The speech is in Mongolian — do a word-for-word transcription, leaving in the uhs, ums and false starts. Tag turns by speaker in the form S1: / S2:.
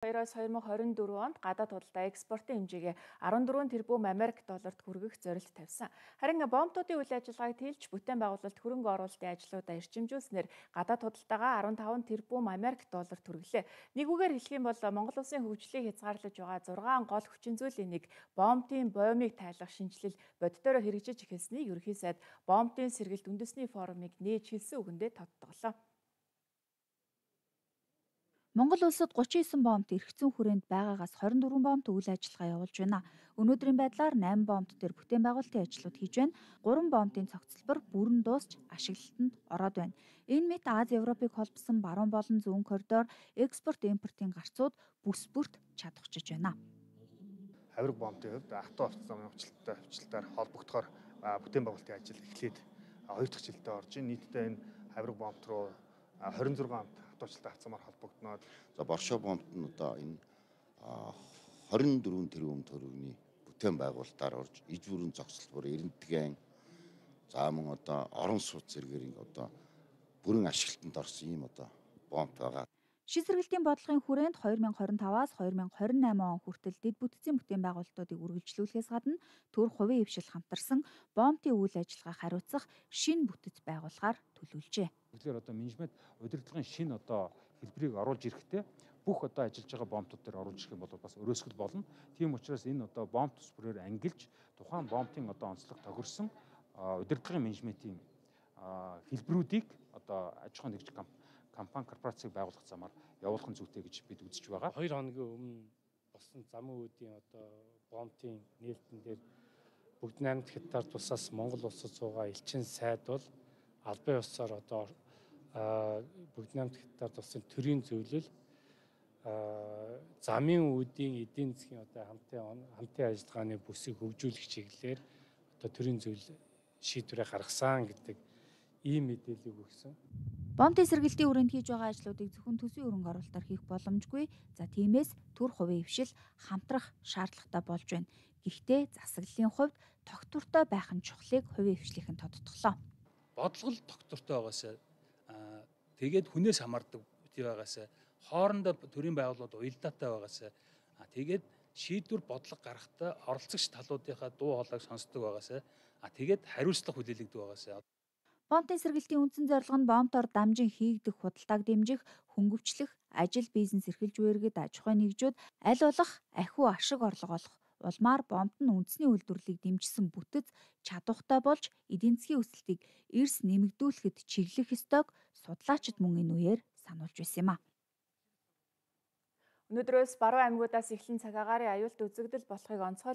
S1: хоёроос две тысячи двадцать четыре онд гадаад худалдаа экспортын хэмжээгээ арван дөрвөн тэрбум Америк долларт хүргэх зорилт тавьсан. Харин бомбуудын үйл ажиллагааг тэлж бүтээн байгуулалт хөрөнгө оруулалтын ажлуудаа эрчимжүүлснээр гадаад худалдаагаа арван таван тэрбум Америк долларт хүргэлээ. Нэг үгээр хэлэх юм бол Монгол улсын хөгжлийг хязгаарлаж байгаа зургаан гол хүчин зүйлийн нэг бомбын боомыг тайлах шинжилэл боддороо хэрэгжиж эхэлснийг ерөнхий сайд бомбын сэргэлт үндэсний форумыг нээж хэлсэн үгэндээ тодтоглоо.
S2: Монгол улсад гучин девять бомбт эрх зүйн хүрээнд байгаагаас двадцать четыре бомбт үйл ажиллагаа явуулж байна. Өнөөдрийн байдлаар восемь бомбт дээр бүтээн байгуулалтын ажлууд хийж байна. три бомбын цогцлбор бүрэн дуусч ашиглалтанд ороод байна. Энэ мэт Аз Европыг холбосон баруун болон зүүн коридор экспорт импортын гарцууд бүс бүрт чадахчиж байна.
S3: Хавирга бомбын хувьд авто автозамын өвчлөлтөй өвчлөлтөөр холбогдохоор бүтээн байгуулалтын ажил эхлээд хоёр дахь жилдээ орж ийн. Нийтдээ энэ хавирга бомб руу двадцать шесть амт авточлалтай авцамаар холбогдноод
S4: за Боршоо бомбт нь одоо энэ двадцать четыре тэрбум төгрөгийн бүтээн байгуулалтаар орж иж бүрэн зогсолбор эрентгэн за мөн одоо орон сууц зэрэгээр одоо бүрэн ашиглалтанд орсон юм одоо бомб байгаа.
S2: Шид сэргэлтийн бодлогын хүрээнд две тысячи двадцать таваас две тысячи двадцать восемь он хүртэл дэд бүтцийн бүтээн байгуулалтуудыг үргэлжлүүлэхээс гадна төр хувийн хвшил хамтарсан бомбын үйл ажиллагааг хариуцах шинэ бүтэц байгуулахаар төлөвлөжээ.
S5: Тэгэхээр одоо менежмент удирдлагын шинэ одоо хэлбэрийг оруулж ирэхдээ бүх одоо ажиллаж байгаа бомбтууд дээр оруулж ирэх юм бол бас өрөөсгөл болно. Тийм учраас энэ одоо бомб тус бүрээр ангилж тухайн бомбын одоо онцлог тохирсон удирдлагын менежментийн хэлбэрүүдийг одоо аж ахуйн нэгж компани корпорацийг байгуулах замаар явуулах нь зүйтэй гэж бид үзэж байгаа.
S6: Хоёр хоногийн өмнө болсон замын үүдийн одоо бомбын нээлтэн дээр бүгд наймд хятад тусаас Монгол улсад суугаа элчин сайд бол албан ёсоор одоо бүгд наймд хятад улсын төрийн зөвлөл замын үүдийн эдийн засгийн одоо хамтын хамтын ажиллагааны бүсийг хөгжүүлэх чиглэлээр одоо төрийн зөвлөл шийдвэрээ гаргасан гэдэг ийм мэдээллийг өгсөн.
S2: Бомбын сэргэлтийн хүрээнд хийж байгаа ажлуудыг зөвхөн төсвийн хөрөнгө оруулалтаар хийх боломжгүй. За тиймээс төр хувийн хвшил хамтрах шаардлагатай болж байна. Гэхдээ засаглалын хувьд тогтвортой байх нь чухлыг хувийн хвшлийнхэн тодтоглоо.
S7: Бодлого тогтвортой байгаас тэгээд хүнээс хамаардаг бити байгаас хоорондоо төрийн байгууллагууд уялдаатай байгаас тэгээд шийдвэр бодлого гаргахтаа оролцогч талуудынхаа дуу хоолойг сонсдог байгаас тэгээд хариуцлага хүлээлгдэг байгаас.
S2: Бомбын сэргэлтийн үндсэн зорилго нь бомбоор дамжин хийгдэх худалдааг дэмжих, хөнгөвчлөх, ажил бизнес эрхэлж буйргэд аж ахуйн нэгжүүд аль болох ахиу ашиг орлого олох улмаар бомбд нь үндэсний үйлдвэрлэлийг дэмжсэн бүтэц чадвартай болж эдийн засгийн өсөлтийг эрс нэмэгдүүлэхэд чиглэх ёстойг судлаачид мөн энэ үеэр сануулж байсан юм а.
S1: Өнөөдрөөс баруун аймагуудаас эхлэн цаг агаарын аюулт үзэгдэл болохыг онцгойлсон.